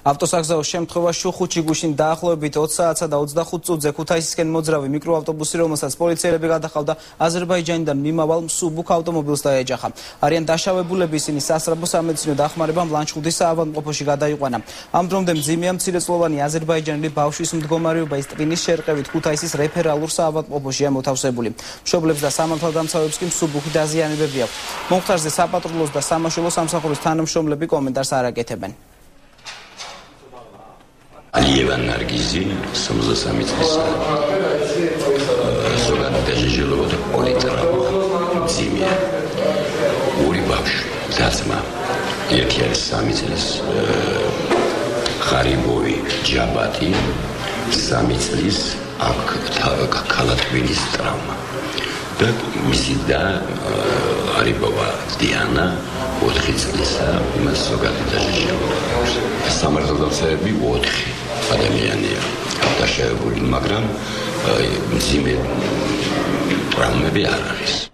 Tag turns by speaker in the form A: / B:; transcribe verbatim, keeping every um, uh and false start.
A: ავტოსაგზაო შემთხვევაში ხუთი გუშინ დაახლოებით ოც საათსა და ოცდახუთ წუთზე ქუთაისისკენ მოძრავი მიკროავტობუსი, რომელსაც პოლიციელები გადახავდა აზერბაიჯანიდან მიმავალ მსუბუქ ავტომობილს დაეჯახა. არიან დაშავებულები, ისინი სასწრაფო სამედიცინო დახმარებამ ლანჩხუთის საავადმყოფოში გადაიყვანა. ამ დრომდე მძიმეა მცირეწლოვანი აზერბაიჯანელი ბავშვის მდგომარეობა, ის ტვინის შერყევით ქუთაისის რეფერალურ საავადმყოფოშია მოთავსებული. მშობლებს და სამართალდამცავებს კი მსუბუქი დაზიანებები აქვს. მომხდარზე საპატრულოს და სამაშველო სამსახურის თანამშრომლები კომენტარს არ აკეთებენ.
B: Aliyevan Nargizi, სამოცდასამი წლისა. ზოგადად დაჟილობა და პოლიტრავმა მძიმეა. ორი ბავშვი, ძმა, ერთი არის სამი წლის ხარიბოვი ჯაბატი, სამი წლის აქ ქალატვინის ტრავმა. და მისი და არიბოვა დიანა ოთხი წლისა, იმას ზოგადად დაჟილობა. სამართალდამცავები ოთხი ადამიანია დაშავებული, მაგრამ მძიმე ტრავმები არ არის.